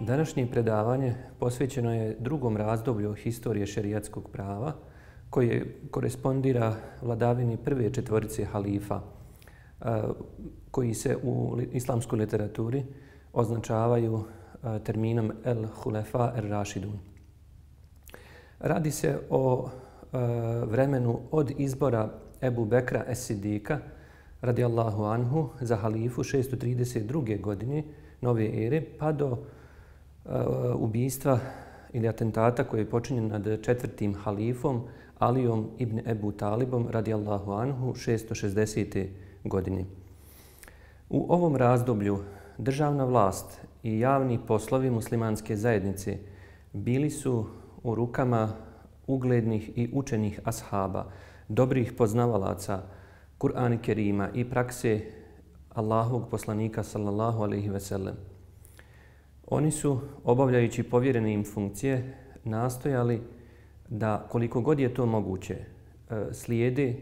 Današnje predavanje posvećeno je drugom razdoblju historije šerijatskog prava koje korespondira vladavini prve četvorice halifa koji se u islamskoj literaturi označavaju terminom el-Hulefa er-Rašidun. Radi se o vremenu od izbora Ebu Bekra es-Sidika radijallahu anhu za halifu 632. godine nove ere pa do ubijstva ili atentata koji je počinjen nad četvrtim halifom Alijom ibn Ebu Talibom radijallahu anhu 660. godine. U ovom razdoblju državna vlast i javni poslovi muslimanske zajednice bili su u rukama uglednih i učenih ashaba, dobrih poznavalaca Kur'ana Kerima i prakse Allahovog poslanika sallallahu alejhi ve sellem. Oni su, obavljajući povjerene im funkcije, nastojali da, koliko god je to moguće, slijede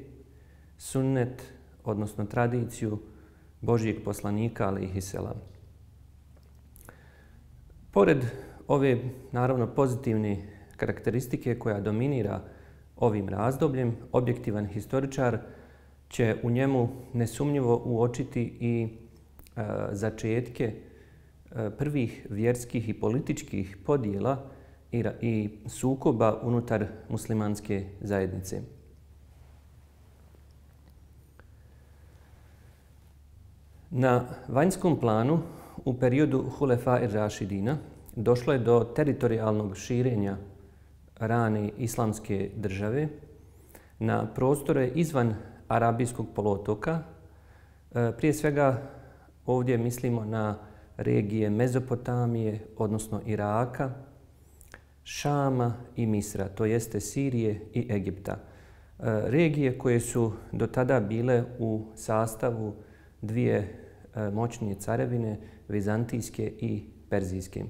sunnet, odnosno tradiciju Božijeg poslanika alejhi selam. Pored ove, naravno, pozitivne karakteristike koja dominira ovim razdobljem, objektivan historičar će u njemu nesumnjivo uočiti i začetke prvih vjerskih i političkih podjela i sukoba unutar muslimanske zajednice. Na vanjskom planu u periodu Hulefa er-Rašidina došlo je do teritorijalnog širenja rane islamske države na prostore izvan Arabijskog poluotoka. Prije svega ovdje mislimo na regije Mezopotamije, odnosno Iraka, Šama i Misra, to jeste Sirije i Egipta. Regije koje su do tada bile u sastavu dvije moćnije carevine, vizantijske i perzijske.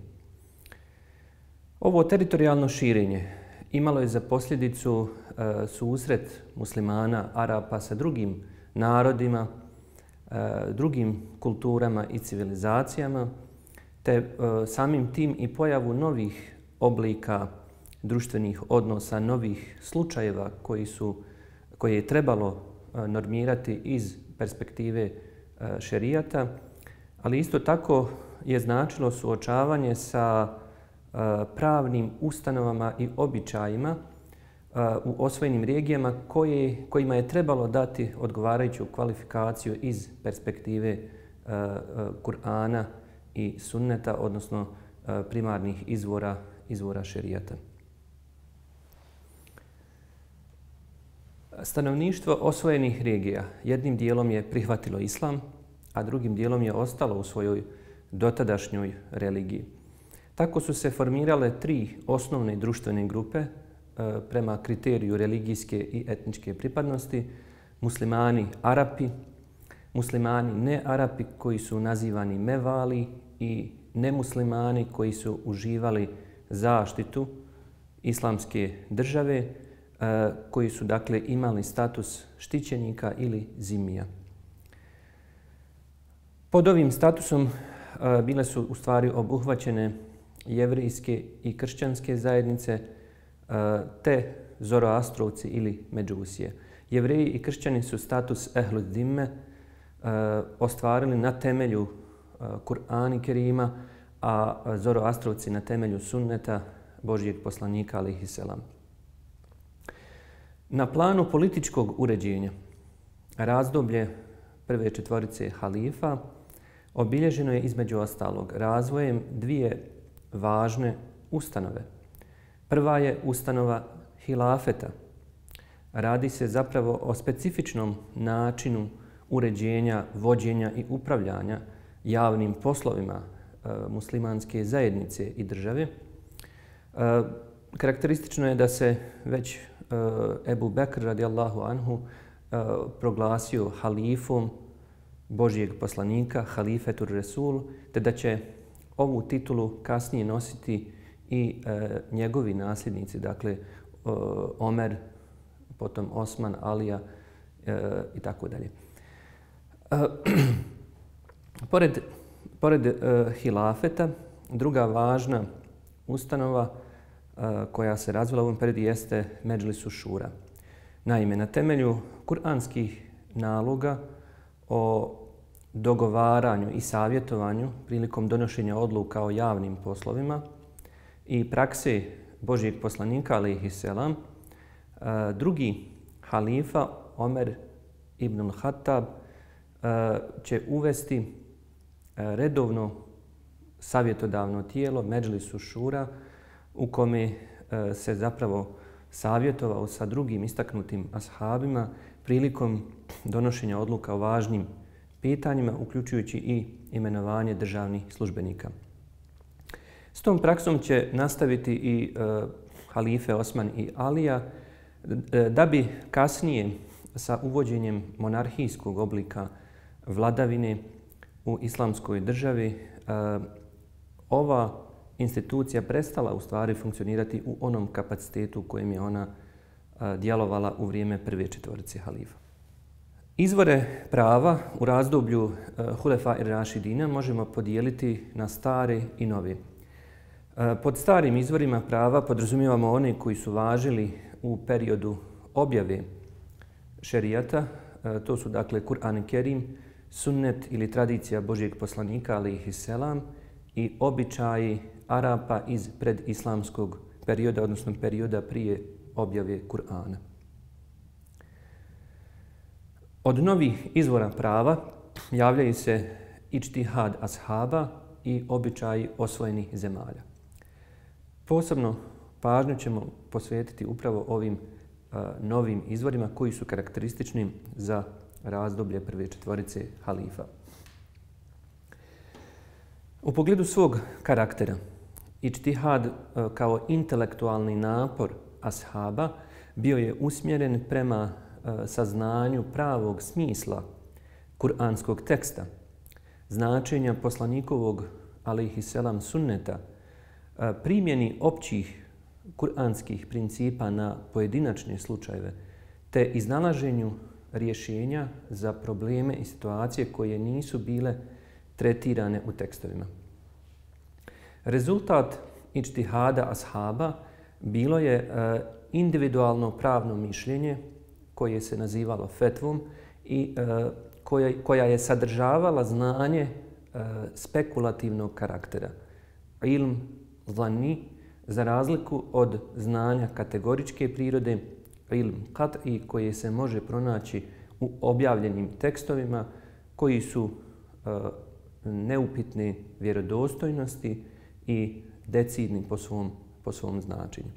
Ovo teritorijalno širenje imalo je za posljedicu susret muslimana, Arapa sa drugim narodima, drugim kulturama i civilizacijama, te samim tim i pojavu novih oblika društvenih odnosa, novih slučajeva koje je trebalo normirati iz perspektive šerijata, ali isto tako je značilo suočavanje sa pravnim ustanovama i običajima u osvojenim regijama kojima je trebalo dati odgovarajuću kvalifikaciju iz perspektive Kur'ana i sunneta, odnosno primarnih izvora šerijata. Stanovništvo osvojenih regija jednim dijelom je prihvatilo islam, a drugim dijelom je ostalo u svojoj dotadašnjoj religiji. Tako su se formirale tri osnovne društvene grupe prema kriteriju religijske i etničke pripadnosti: muslimani Arapi, muslimani ne Arapi koji su nazivani Mevali i nemuslimani koji su uživali zaštitu islamske države, koji su dakle imali status štićenika ili zimija. Pod ovim statusom bile su u stvari obuhvaćene jevrijske i kršćanske zajednice te Zoroastrovci ili Međusije. Jevreji i kršćani su status ehlu zimme ostvarili na temelju Kur'ana Kerima, a Zoroastrovci na temelju sunneta Božijeg poslanika alejhi selam. Na planu političkog uređenja razdoblje prve četvorice halifa obilježeno je između ostalog razvojem dvije važne ustanove. Prva je ustanova hilafeta. Radi se zapravo o specifičnom načinu uređenja, vođenja i upravljanja javnim poslovima muslimanske zajednice i države. Karakteristično je da se već Ebu Bekr radijallahu anhu proglasio halifom Božijeg poslanika, halifetur Resul, te da će ovu titulu kasnije nositi i njegovi nasljednici, dakle Omer, potom Osman, Alija i tako dalje. Pored hilafeta druga važna ustanova koja se razvila u ovom periodu jeste Medžlisu šura. Naime, na temelju kuranskih naloga o dogovaranju i savjetovanju prilikom donošenja odluka o javnim poslovima i prakse Božijeg poslanika, alejhiselam, drugi halifa, Omer ibn al-Khattab, će uvesti redovno savjetodavno tijelo Medžlisu šura u kome se zapravo savjetovao sa drugim istaknutim ashabima prilikom donošenja odluka o važnim pitanjima, uključujući i imenovanje državnih službenika. S tom praksom će nastaviti i halife Osman i Alija, da bi kasnije sa uvođenjem monarhijskog oblika vladavine u islamskoj državi ova institucija prestala u stvari funkcionirati u onom kapacitetu u kojem je ona djelovala u vrijeme prve četvorice halifa. Izvore prava u razdoblju Hulefa ir-Rašidina možemo podijeliti na stare i nove. Pod starim izvorima prava podrazumijevamo one koji su važili u periodu objave šerijata. To su dakle Kur'an Kerim, sunnet ili tradicija Božijeg poslanika, alejhiselam, i običaji Arapa iz predislamskog perioda, odnosno perioda prije objave Kur'ana. Od novih izvora prava javljaju se ičtihad ashaba i običaji osvojenih zemalja. Posebno pažnju ćemo posvetiti upravo ovim novim izvorima koji su karakteristični za razdoblje prve četvorice halifa. U pogledu svog karaktera, ičtihad kao intelektualni napor ashaba bio je usmjeren prema saznanju pravog smisla kuranskog teksta, značenja poslanikovog alejhiselam sunneta, primjeni općih kuranskih principa na pojedinačne slučajeve, te iznalaženju rješenja za probleme i situacije koje nisu bile tretirane u tekstovima. Rezultat ičtihada ashaba bilo je individualno pravno mišljenje koje se nazivalo fetvom i koja je sadržavala znanje spekulativnog karaktera. Ilm zani, za razliku od znanja kategoričke prirode, ilm qat'i, koje se može pronaći u objavljenim tekstovima koji su neupitne vjerodostojnosti i decidni po svom značenju.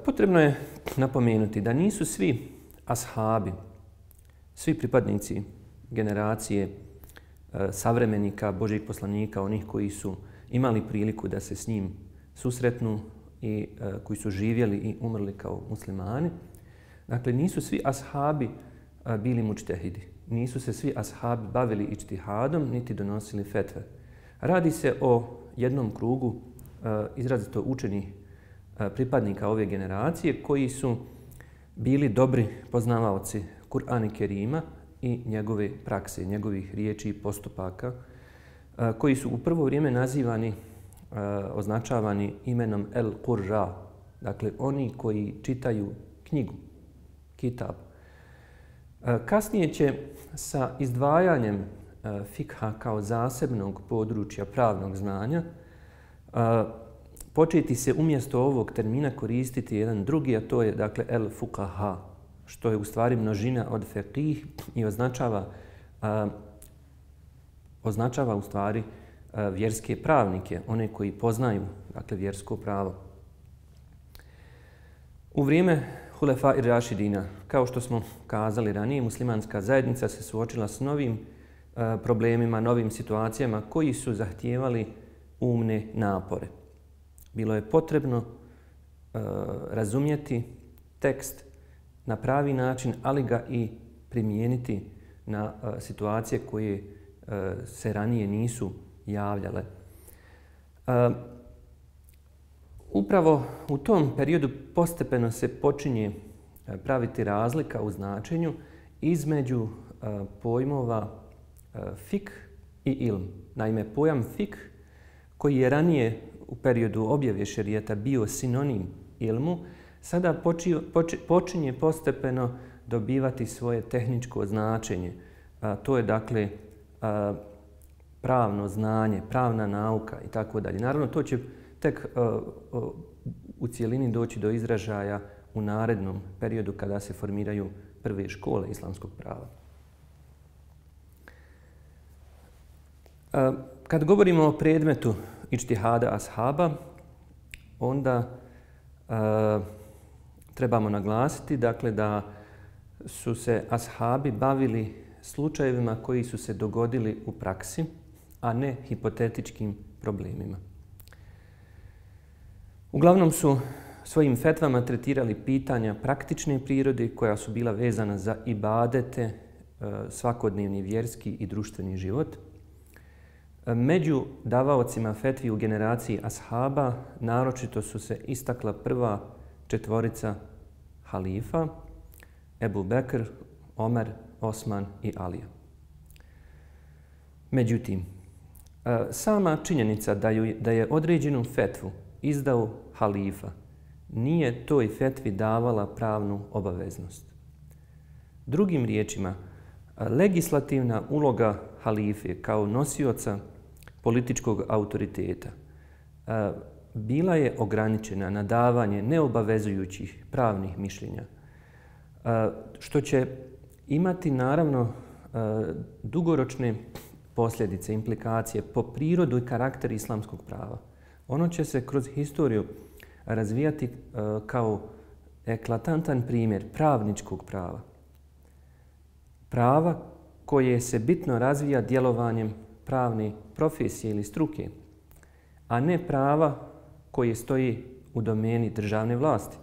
Potrebno je napomenuti da nisu svi ashabi, svi pripadnici generacije savremenika Božijeg poslanika, onih koji su imali priliku da se s njim susretnu i koji su živjeli i umrli kao muslimani. Dakle, nisu svi ashabi bili mučtehidi. Nisu se svi ashabi bavili ičtihadom niti donosili fetve. Radi se o jednom krugu izrazito učenih pripadnika ove generacije koji su bili dobri poznavaoci Kur'ana Kerima i njegove prakse, njegovih riječi i postupaka, koji su u prvo vrijeme nazivani, označavani imenom el-Qurra, dakle oni koji čitaju knjigu, kitab. Kasnije će sa izdvajanjem fikha kao zasebnog područja pravnog znanja početi se umjesto ovog termina koristiti jedan drugi, a to je dakle el-Fuqaha, što je u stvari množina od fiqih i označava u stvari vjerske pravnike, one koji poznaju dakle vjersko pravo. U vrijeme Hulefa ir-Rašidina, kao što smo kazali ranije, muslimanska zajednica se suočila s novim problemima, novim situacijama koji su zahtijevali umne napore. Bilo je potrebno razumjeti tekst na pravi način, ali ga i primijeniti na situacije koje se ranije nisu javljale. Upravo u tom periodu postepeno se počinje praviti razlika u značenju između pojmova fik i ilm. Naime, pojam fik koji je ranije u periodu objave šerijata bio sinonim ilmu, sada počinje postepeno dobivati svoje tehničko značenje. To je dakle pravno znanje, pravna nauka i tako dalje. Naravno, to će tek u cijelini doći do izražaja u narednom periodu kada se formiraju prve škole islamskog prava. Kad govorimo o predmetu ičtihada ashaba, onda trebamo naglasiti dakle, da su se ashabi bavili slučajevima koji su se dogodili u praksi, a ne hipotetičkim problemima. Uglavnom su svojim fetvama tretirali pitanja praktične prirode koja su bila vezana za ibadete, svakodnevni vjerski i društveni život. Među davaocima fetvi u generaciji ashaba naročito su se istakla prva četvorica halifa, Ebu Bekr, Omer, Osman i Alija. Međutim, sama činjenica da je određenu fetvu izdao halifa nije toj fetvi davala pravnu obaveznost. Drugim riječima, legislativna uloga halife kao nosioca političkog autoriteta bila je ograničena na davanje neobavezujućih pravnih mišljenja, što će imati naravno dugoročne posljedice, implikacije po prirodu i karakter islamskog prava. Ono će se kroz historiju razvijati kao eklatantan primjer pravničkog prava. Prava koje se bitno razvija djelovanjem pravne profesije ili struke, a ne prava koje stoji u domeni državne vlasti.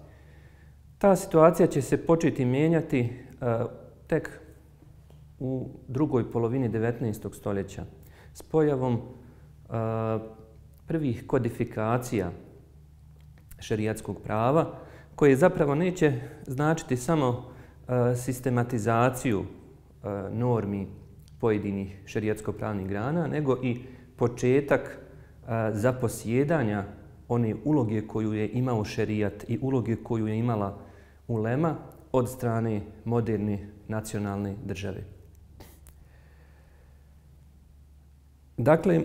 Ta situacija će se početi mijenjati tek u drugoj polovini 19. stoljeća s pojavom prvih kodifikacija šerijatskog prava, koje zapravo neće značiti samo sistematizaciju normi pojedinih šerijatsko-pravnih grana, nego i početak zaposjedanja one uloge koju je imao šerijat i uloge koju je imala ulema od strane moderne nacionalne države. Dakle,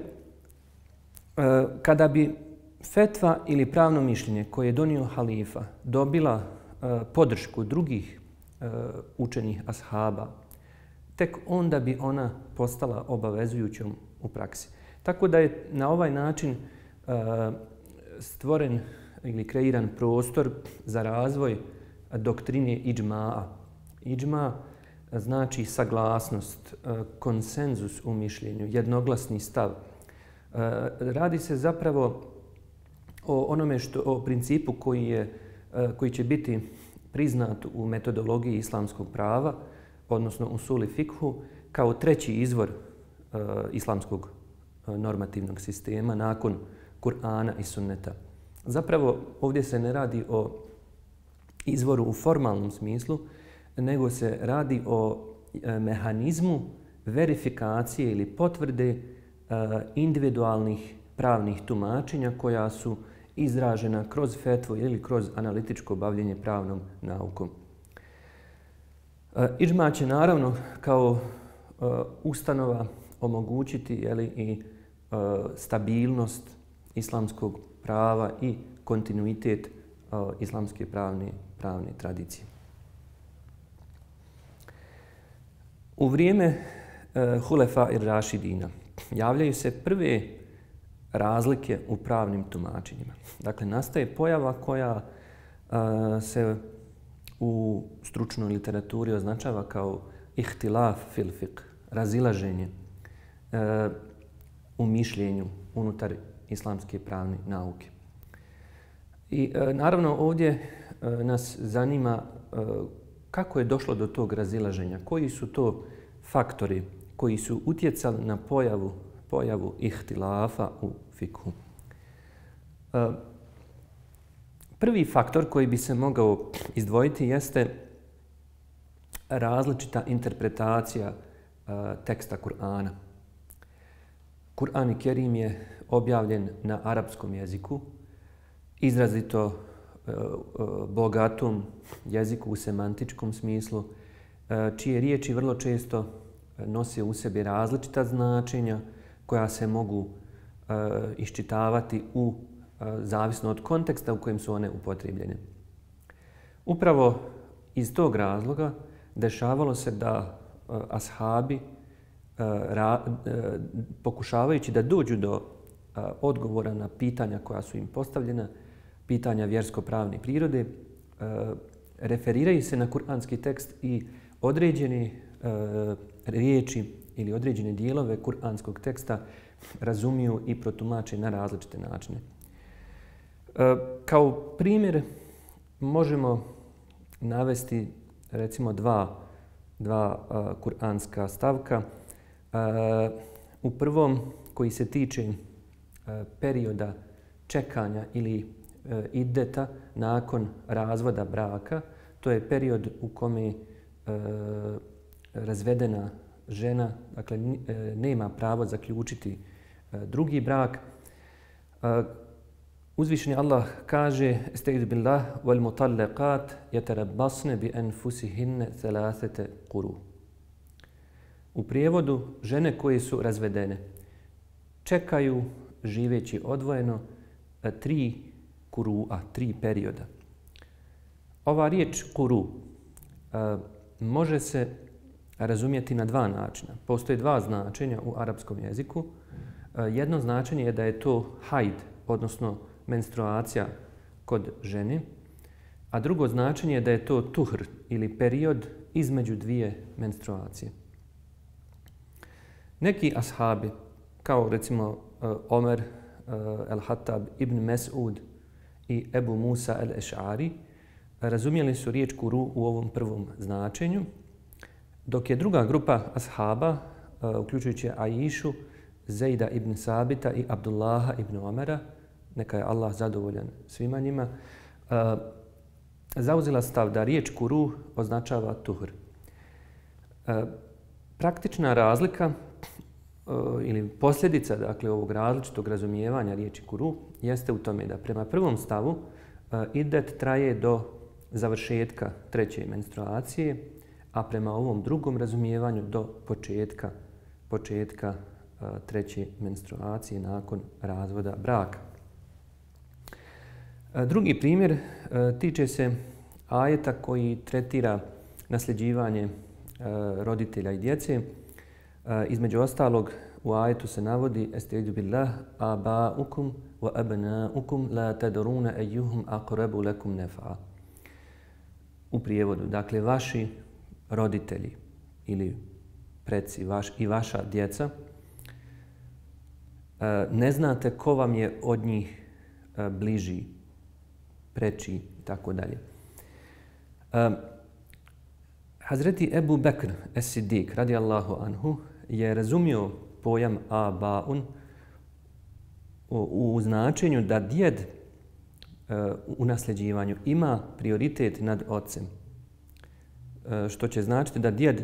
kada bi fetva ili pravno mišljenje koje je donio halifa dobila podršku drugih učenih ashaba, tek onda bi ona postala obavezujućom u praksi. Tako da je na ovaj način stvoren ili kreiran prostor za razvoj doktrine iđmaa. Iđma znači saglasnost, konsenzus u mišljenju, jednoglasni stav. Radi se zapravo o onome o principu koji će biti priznat u metodologiji islamskog prava, odnosno usuli fikhu, kao treći izvor islamskog normativnog sistema nakon Kur'ana i sunneta. Zapravo ovdje se ne radi o izvoru u formalnom smislu, nego se radi o mehanizmu verifikacije ili potvrde individualnih pravnih tumačenja koja su izražena kroz fetvu ili kroz analitičko bavljenje pravnom naukom. Iđma će naravno kao ustanova omogućiti i stabilnost islamskog prava i kontinuitet islamske pravne tradicije. U vrijeme Hulefa i Rašidina javljaju se prve razlike u pravnim tumačenjima. Dakle, nastaje pojava koja se u stručnoj literaturi označava kao ihtilaf fil fiqh, razilaženje u mišljenju unutar islamske pravne nauke. I naravno ovdje nas zanima kako je došlo do tog razilaženja, koji su to faktori koji su utjecali na pojavu ihtilafa u fikhu. Prvi faktor koji bi se mogao izdvojiti jeste različita interpretacija teksta Kur'ana. Kur'an Kerim je objavljen na arapskom jeziku, izrazito bogatom jeziku u semantičkom smislu, čije riječi vrlo često nose u sebi različita značenja koja se mogu iščitavati zavisno od konteksta u kojem su one upotrijebljene. Upravo iz tog razloga dešavalo se da ashabi, pokušavajući da dođu do odgovora na pitanja koja su im postavljena, pitanja vjersko-pravne prirode, referiraju se na kuranski tekst i određene riječi ili određene dijelove kuranskog teksta razumiju i protumače na različite načine. Kao primjer možemo navesti recimo dva kuranska stavka. U prvom, koji se tiče perioda čekanja ili iddeta nakon razvoda braka, to je period u kome razvedena žena, dakle, nema pravo zaključiti drugi brak. Uzvišeni Allah kaže: "Estaizu billah wal mutallaqat yatarabbasna bi anfusihinna thalathata quru." U prijevodu, žene koje su razvedene čekaju živeći odvojeno 3 kurua, 3 perioda. Ova riječ kuru može se razumjeti na 2 načina. Postoje 2 značenja u arapskom jeziku. Jedno značenje je da je to hajd, odnosno menstruacija kod žene, a drugo značenje je da je to tuhr ili period između 2 menstruacije. Neki ashabi, kao recimo Omer el-Hattab ibn Mes'ud i Ebu Musa el-Eš'ari, razumjeli su riječ kuru u ovom prvom značenju, dok je druga grupa ashaba, uključujući Aishu, Zejda ibn Sabita i Abdullaha ibn Omera, neka je Allah zadovoljan svima njima, zauzela stav da riječ kuru označava tuhr. Praktična razlika ili posljedica, dakle, ovog različitog razumijevanja riječi kuru jeste u tome da prema prvom stavu idet traje do završetka 3. menstruacije, a prema ovom drugom razumijevanju do početka 3. menstruacije nakon razvoda braka. Drugi primjer tiče se ajeta koji tretira nasljeđivanje roditelja i djece. Između ostalog, u ajetu se navodi: "Estaizu billah abaukum wa abnaukum la tadruna ayyuhum aqrabu lakum nafa." U prijevodu, dakle, vaši roditelji ili preci i vaša djeca, ne znate ko vam je od njih bliži, preči i tako dalje. Hazreti Ebu Bekr es-Siddiq radijallahu anhu je razumio pojam abaun u značenju da djed u nasljeđivanju ima prioritet nad ocem, što će značiti da djed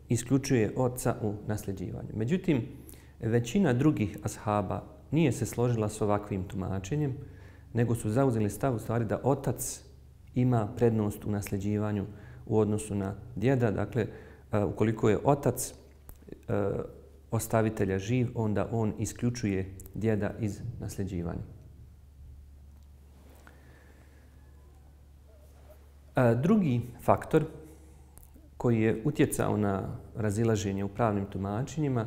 isključuje oca u nasljeđivanju. Međutim, većina drugih ashaba nije se složila s ovakvim tumačenjem, nego su zauzeli stav u stvari da otac ima prednost u nasljeđivanju u odnosu na djeda. Dakle, ukoliko je otac ostavitelja živ, onda on isključuje djeda iz nasljeđivanja. Drugi faktor koji je utjecao na razilaženje u pravnim tumačenjima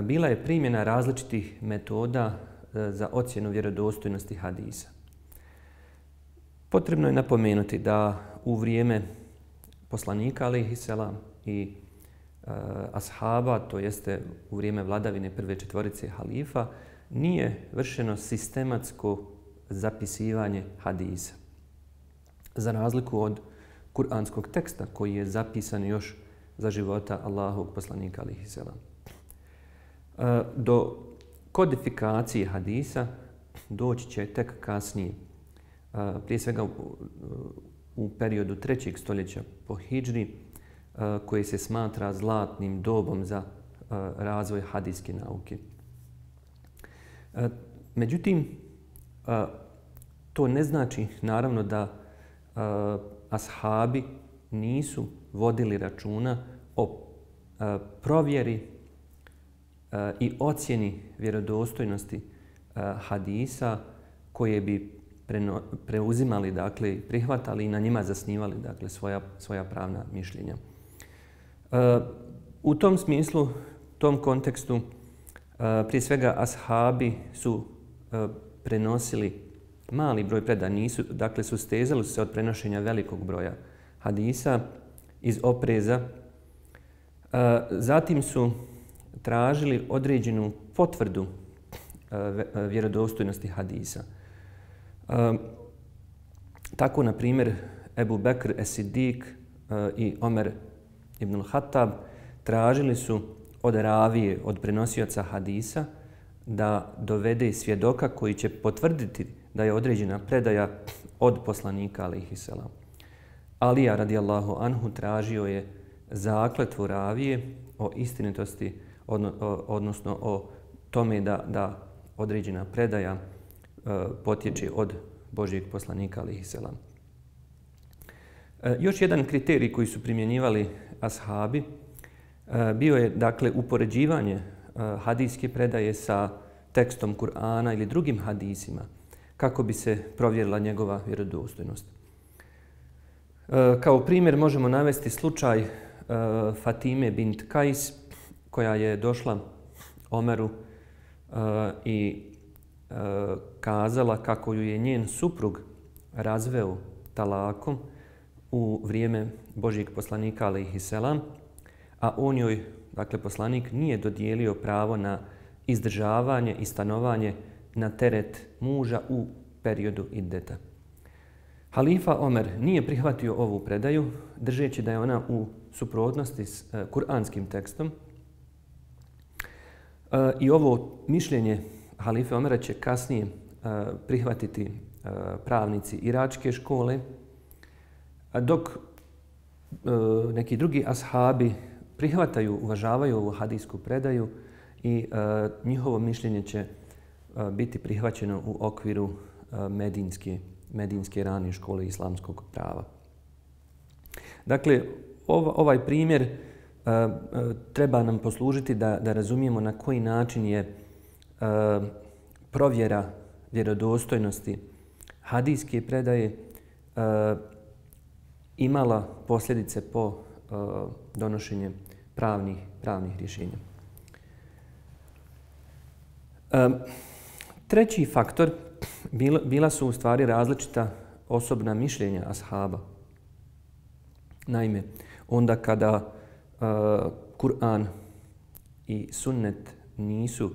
bila je primjena različitih metoda za ocjenu vjerodostojnosti hadisa. Potrebno je napomenuti da u vrijeme poslanika alejhiselam i ashaba, to jeste u vrijeme vladavine prve 4 halifa, nije vršeno sistematsko zapisivanje hadisa. Za razliku od kuranskog teksta koji je zapisan još za života Allahovog poslanika alejhiselam. Do kodifikacije hadisa doći će tek kasnije. Prije svega u periodu 3. stoljeća po hidžri, koji se smatra zlatnim dobom za razvoj hadijske nauke. Međutim, to ne znači naravno da ashabi nisu vodili računa o provjeri i ocjeni vjerodostojnosti hadisa koje bi preuzimali, dakle, prihvatali i na njima zasnivali, dakle, svoja pravna mišljenja. U tom smislu, tom kontekstu, prije svega ashabi su prenosili mali broj predaja, dakle, sustezali se od prenošenja velikog broja hadisa iz opreza. Zatim su tražili određenu potvrdu vjerodostojnosti hadisa. Tako, na primjer, Ebu Bekr es-Siddiq i Omer ibn al-Khattab tražili su od ravije, od prenosioca hadisa, da dovede svjedoka koji će potvrditi da je određena predaja od poslanika, alejhiselam. Alija, radijallahu anhu, tražio je zakletvu ravije o istinitosti, odnosno o tome da određena predaja potječe od Božjeg poslanika, alejhiselam. Još jedan kriterij koji su primjenjivali ashabi bio je, dakle, upoređivanje hadijske predaje sa tekstom Kur'ana ili drugim hadisima kako bi se provjerila njegova vjerodostojnost. Kao primjer možemo navesti slučaj Fatime bint Kajs, koja je došla Omeru i kazala kako ju je njen suprug razveo talakom u vrijeme Božjeg poslanika, alejhiselam, a on joj, dakle, poslanik, nije dodijelio pravo na izdržavanje i stanovanje na teret muža u periodu iddeta. Halifa Omer nije prihvatio ovu predaju, držeći da je ona u suprotnosti s kuranskim tekstom. I ovo mišljenje halife Omera će kasnije prihvatiti pravnici iračke škole, dok neki drugi ashabi prihvataju, uvažavaju ovu hadijsku predaju i njihovo mišljenje će biti prihvaćeno u okviru medinske rane škole islamskog prava. Dakle, ovaj primjer treba nam poslužiti da razumijemo na koji način je provjera vjerodostojnosti hadijske predaje imala posljedice po donošenje pravnih rješenja. Treći faktor bila su u stvari različita osobna mišljenja ashaba. Naime, onda kada Kur'an i sunnet nisu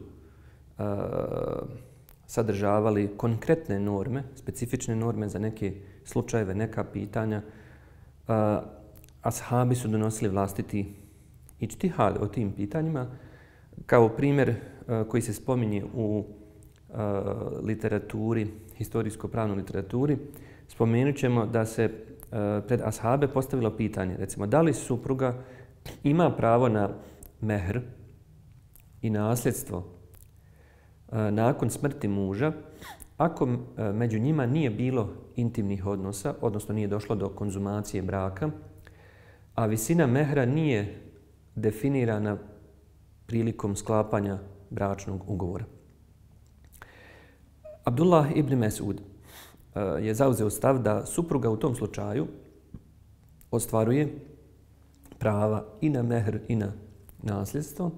sadržavali konkretne norme, specifične norme za neke slučajeve, neka pitanja, ashabi su donosili vlastiti ičtihad o tim pitanjima. Kao primjer koji se spominje u literaturi, historijsko-pravnoj literaturi, spomenut ćemo da se pred ashabe postavilo pitanje, recimo, da li supruga ima pravo na mehr i nasljedstvo nakon smrti muža ako među njima nije bilo intimnih odnosa, odnosno nije došlo do konzumacije braka, a visina mehra nije definirana prilikom sklapanja bračnog ugovora. Abdullah ibn Mesud je zauzeo stav da supruga u tom slučaju ostvaruje prava i na mehr i na nasljedstvo,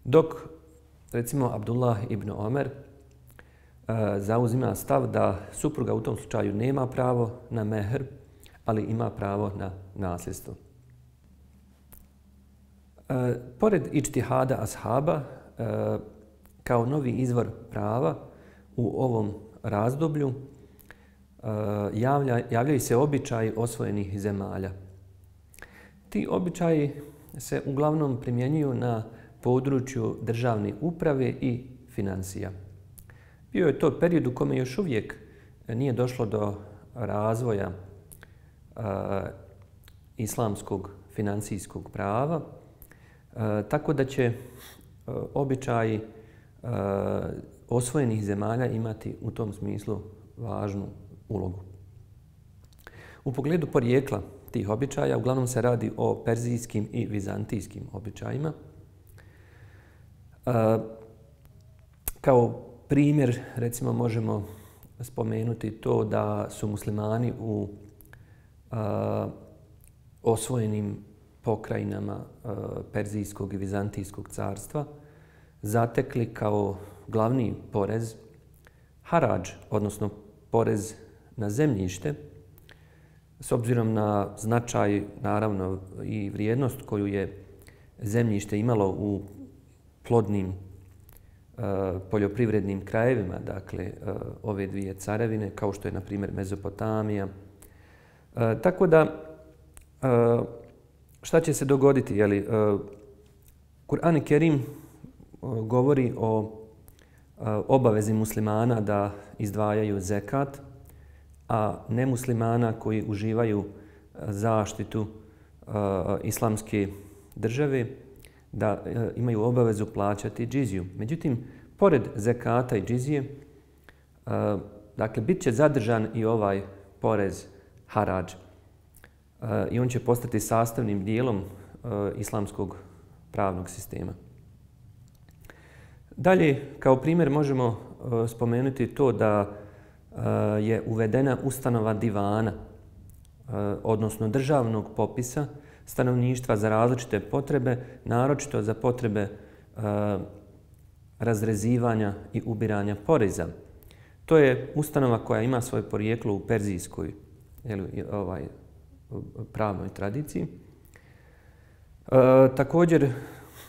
dok, recimo, Abdullah ibn Omer zauzima stav da supruga u tom slučaju nema pravo na mehr, ali ima pravo na nasljedstvo. Pored ičtihada ashaba, kao novi izvor prava u ovom razdoblju javljaju se običaji osvojenih zemalja. Ti običaji se uglavnom primjenjuju na području državne uprave i financija. Bio je to period u kome još uvijek nije došlo do razvoja islamskog financijskog prava, tako da će običaji osvojenih zemalja imati u tom smislu važnu ulogu. U pogledu porijekla tih običaja uglavnom se radi o perzijskim i vizantijskim običajima. Kao primjer, recimo, možemo spomenuti to da su muslimani u osvojenim pokrajinama Perzijskog i Vizantijskog carstva zatekli kao glavni porez haradž, odnosno porez na zemljište, s obzirom na značaj, naravno, i vrijednost koju je zemljište imalo u plodnim poljoprivrednim krajevima, dakle, ove dvije carevine, kao što je, na primjer, Mezopotamija. Tako da, šta će se dogoditi? Kur'an Kerim govori o obavezi muslimana da izdvajaju zekat, a nemuslimana koji uživaju zaštitu islamske države da imaju obavezu plaćati džiziju. Međutim, pored zekata i džizije, dakle, bit će zadržan i ovaj porez haradž. I on će postati sastavnim dijelom islamskog pravnog sistema. Dalje, kao primjer možemo spomenuti to da je uvedena ustanova divana, odnosno državnog popisa stanovništva za različite potrebe, naročito za potrebe razrezivanja i ubiranja poreza. To je ustanova koja ima svoje porijeklo u perzijskoj pravnoj tradiciji. Također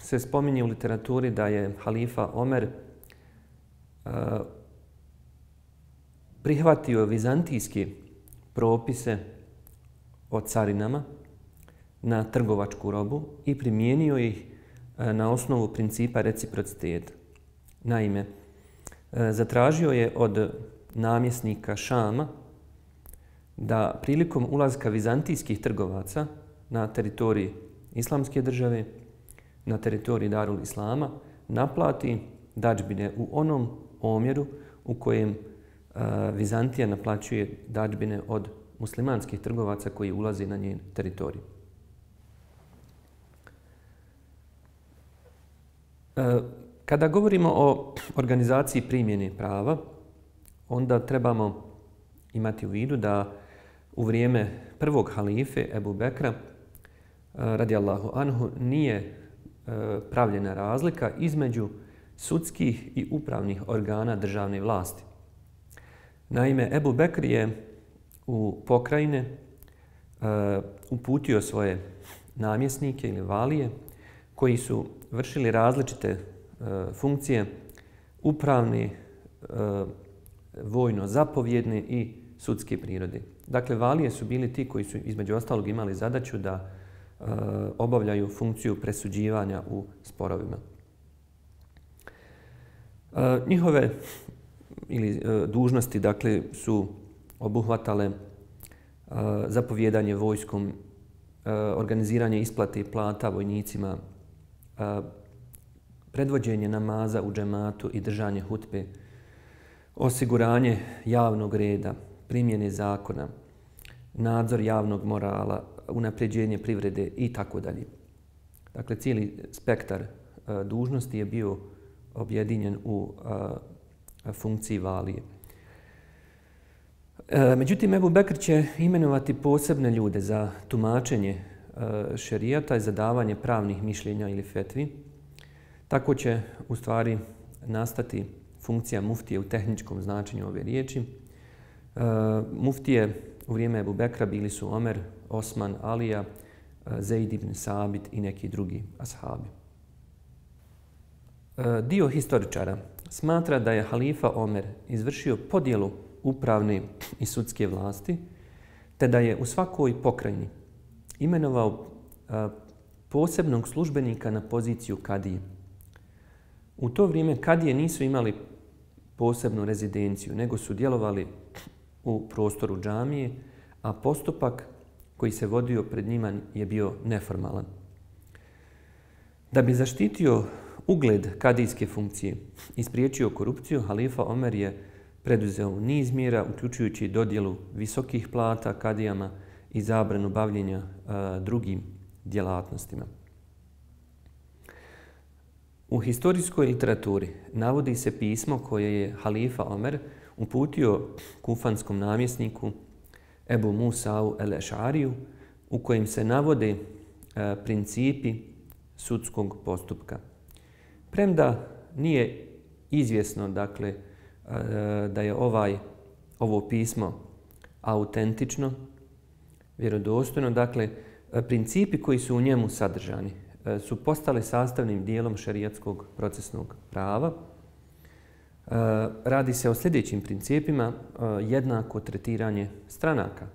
se spominje u literaturi da je halifa Omer prihvatio vizantijske propise o carinama na trgovačku robu i primijenio ih na osnovu principa reciprociteta. Naime, zatražio je od namjesnika Šama da prilikom ulaska vizantijskih trgovaca na teritoriji islamske države, na teritoriji Darul Islama, naplati dadžbine u onom omjeru u kojem Vizantija naplaćuje dadžbine od muslimanskih trgovaca koji ulaze na njen teritorij. Kada govorimo o organizaciji primjene prava, onda trebamo imati u vidu da u vrijeme prvog halife Ebu Bekra, radijallahu anhu, nije pravljena razlika između sudskih i upravnih organa državne vlasti. Naime, Ebu Bekr je u pokrajine uputio svoje namjesnike ili valije koji su vršili različite funkcije upravne, vojno-zapovjedne i sudske prirode. Dakle, valije su bili ti koji su između ostalog imali zadaću da obavljaju funkciju presuđivanja u sporovima. Njihove dužnosti, dakle, su obuhvatale zapovjedanje vojskom, organiziranje isplate plata vojnicima, predvođenje namaza u džematu i držanje hutbe, osiguranje javnog reda, primjene zakona, nadzor javnog morala, unapređenje privrede i tako dalje. Dakle, cijeli spektar dužnosti je bio objedinjen u funkciji valije. Međutim, Ebu Bekr će imenovati posebne ljude za tumačenje šerijata i za davanje pravnih mišljenja ili fetvi. Tako će u stvari nastati funkcija muftije u tehničkom značenju ove riječi. Muftije u vrijeme Ebu Bekra bili su Omer, Osman, Alija, Zeid ibn Sabit i neki drugi ashabi. Dio historičara smatra da je halifa Omer izvršio podjelu upravne i sudske vlasti, te da je u svakoj pokrajini imenovao posebnog službenika na poziciju kadije. U to vrijeme kadije nisu imali posebnu rezidenciju, nego su djelovali u prostoru džamije, a postupak koji se vodio pred njima je bio neformalan. Da bi zaštitio ugled kadijske funkcije i spriječio korupciju, halifa Omer je preduzeo niz mjera, uključujući dodjelu visokih plata kadijama i zabranu bavljenja drugim djelatnostima. U historijskoj literaturi navodi se pismo koje je halifa Omer uputio kufanskom namjesniku Ebu Musau el-Ešariju, u kojim se navode principi sudskog postupka. Premda nije izvjesno, dakle, da je ovo pismo autentično, vjerodostojno, dakle, principi koji su u njemu sadržani su postali sastavnim dijelom šerijatskog procesnog prava. Radi se o sljedećim principima: jednako tretiranje stranaka.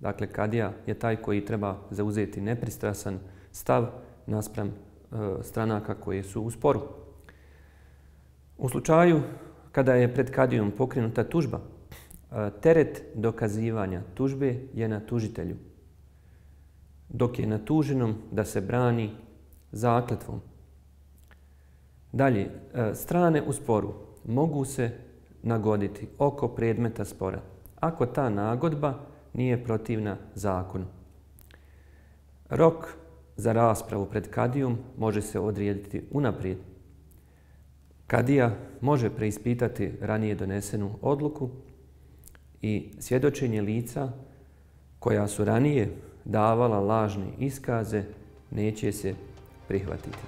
Dakle, kadija je taj koji treba zauzeti nepristrasan stav naspram stranaka koje su u sporu. U slučaju kada je pred kadijom pokrenuta tužba, teret dokazivanja tužbe je na tužitelju, dok je na tuženom da se brani zakletvom. Dalje, strane u sporu mogu se nagoditi oko predmeta spora ako ta nagodba nije protivna zakonu. Rok za raspravu pred kadijom može se odrediti unaprijed. Kadija može preispitati ranije donesenu odluku i svjedočenje lica koja su ranije davala lažne iskaze neće se prihvatiti.